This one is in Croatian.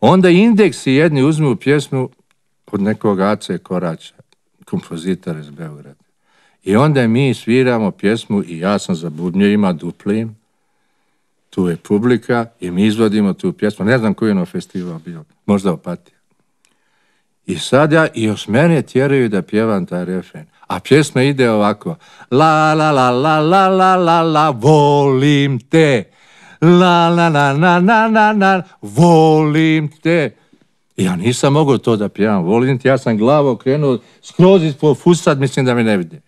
Onda indeksi jedni uzmu pjesmu od nekog Ace Koraća, kompozitora iz Beograda. I onda mi sviramo pjesmu i ja sam za bubnjevima duplim, tu je publika i mi izvodimo tu pjesmu. Ne znam koji je ono festival bio, možda Opatija. I sad i još mene tjeraju da pjevam taj refren. A pjesma ide ovako. La la la la la la la la, volim te. La la la la la la la, volim te. Ja nisam mogao to da pjevam, volim te, ja sam glavu okrenuo skroz ispod fusat, mislim da me ne vidi.